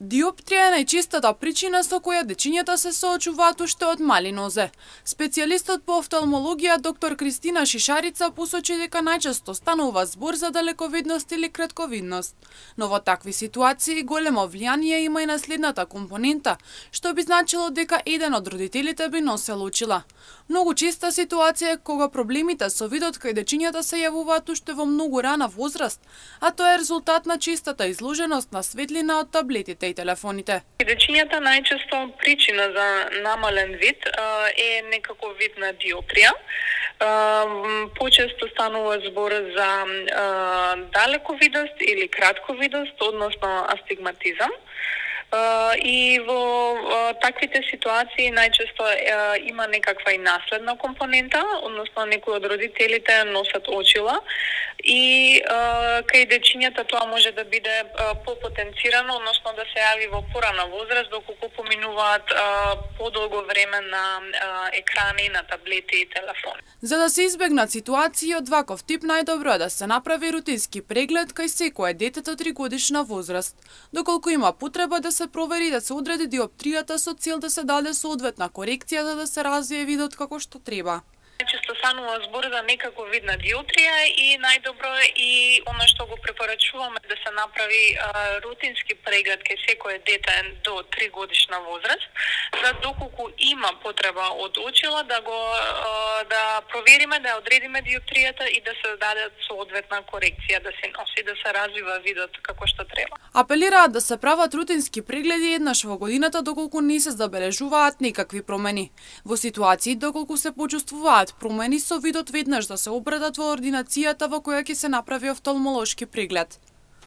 Диоптрија е најчестата причина со која дечињата се соочуваат уште од мали нозе. Специјалистот по офталмологија доктор Кристина Шишарица посочи дека најчесто станува збор за далековидност или кратковидност. Но во такви ситуации големо влијание има и наследната компонента, што би значило дека еден од родителите би носел очила. Многу честа ситуација е кога проблемите со видот кај дечињата се јавуваат уште во многу рана возраст, а тоа е резултат на честата изложеност на светлина од таблетите и телефоните. Дечињата најчесто причина за намален вид е некако вид на диоптрија. Почесто станува збор за далековидост или кратковидост, односно астигматизам. И во таквите ситуации најчесто има некаква и наследна компонента, односно некои од родителите носат очила и кај дечињата тоа може да биде попотенцирано, односно да се јави во порана возраст, доколку поминуваат подолго време на екрани, на таблети и телефони. За да се избегнат ситуации од ваков тип, најдобро е да се направи рутински преглед кај секое дете до 3-годишна возраст, доколку има потреба да се провери да се одреди диоптријата со цел да се даде соодветна корекција за да се развие видот како што треба. Често станува збор за некако вид на диоптрија и најдобро е и она што го препорачуваме да се направи рутински преглед кај секое дете до 3-годишна возраст, за доколку има потреба од очила да провериме, да одредиме диоптријата и да се даде соодветна корекција, да се носи, да се развива видот како што треба. Апелираат да се прават рутински прегледи еднаш во годината доколку не се забележуваат никакви промени. Во ситуации доколку се почувствуваат промени со видот, веднаш да се обратат во ординацијата во која ќе се направи офталмолошки преглед.